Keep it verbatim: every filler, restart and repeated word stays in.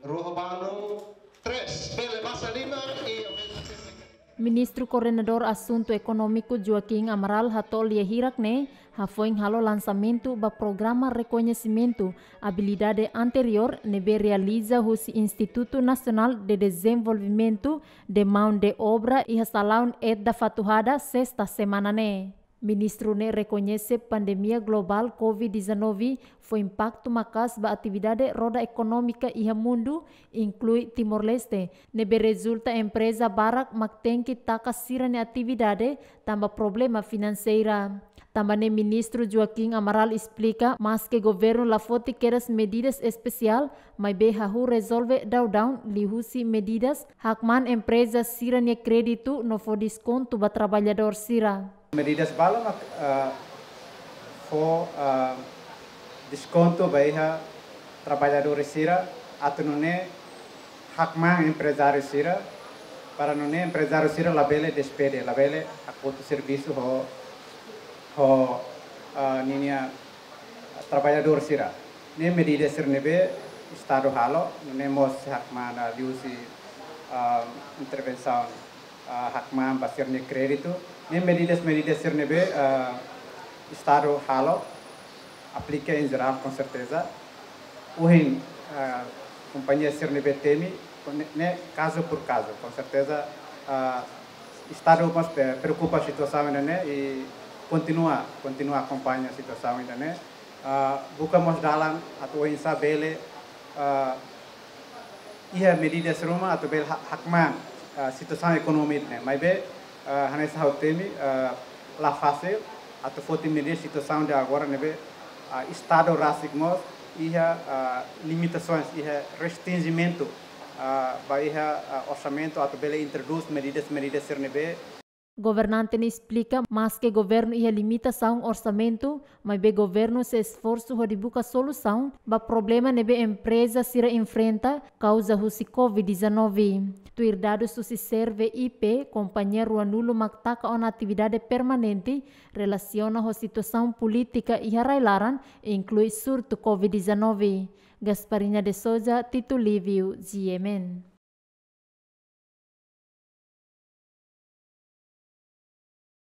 Rua ho balun, tres, bele basa liman i Ministru Koordenadór Asuntu Ekonómiku Joaquim Amaral hato'o lia hirak ne'e hafoin halo lansamentu ba programa rekoñesimentu abilidade anteriór ne'ebé realiza husi Institutu Nasionál de Dezenvolvimentu de Maun de Obra iha salaun EDDA Fatuhada, sesta semana ne'e. Ministru ne'e rekoñese pandemia globál covid dezanove fó impaktu maka'as ba atividade roda ekonómika iha mundu, inklui Timor-Leste, ne'ebé rezulta empreza barak mak tenke taka sira-nia atividade tanba problema finanseira. Tanba ne'e Ministru Joaquim Amaral esplika, maske governu la foti kedas medidas espesiál, maibé hahú rezolve daudaun liuhusi medidas hakmaan empreza sira-nia kréditu no fó deskontu ba traballadór sira. Medidas balu mak, ah, fó, ah, deskontu ba iha traballadór sira, atu nune'e hakmaan emprezáriu sira, para nune'e emprezáriu sira labele despede, labele hakotu servisu ho, ho, ah, ninia traballadór sira. Ne'e medida sira ne'ebé Estadu halo, nune'e mós hakmaan liuhusi, ah, intervensaun, ah, hakmaan ba sira-nia kréditu. Ne'e medidas, medidas sira ne'ebé, ah, Estadu halo, aplika em geral, com certeza. Ohin, ah, kompañia sira ne'ebé temi, ne'e, ne'e caso por caso, com certeza, ah, Estadu mós, eh, preokupa situasaun ida-ne'e i kontinua, kontinua akompaña situasaun ida-ne'e. Ah, buka mós dalan atu oinsá bele, ah, iha medidas ruma atu bele ha-, hakmaan, ah, situasaun ekonomia ne'e. Maibé, ah, hanesan ha'u temi, ah, la fasil atu foti medida situasaun de agora ne'ebé, ah, Estadu rasik mós iha, ah, limitasoens, iha restrinjimentu, ah, ba iha, ah, orsamentu atu bele introdús medidas, medidas sira ne'ebé. Governante ne'e esplika, maske governu iha limitasaun orsamentu, maibé governu sei esforsu hodi buka solusaun ba problema ne'ebé empreza sira enfrenta kauza husi covid dezanove. Tuir dadus husi Serve I P, kompañia ruanulu mak taka ona atividade permanente relasiona ho situasaun polítika iha rai-laran, inklui surtu covid dezanove. Gasparina de Souza, Tito Livio, G M N.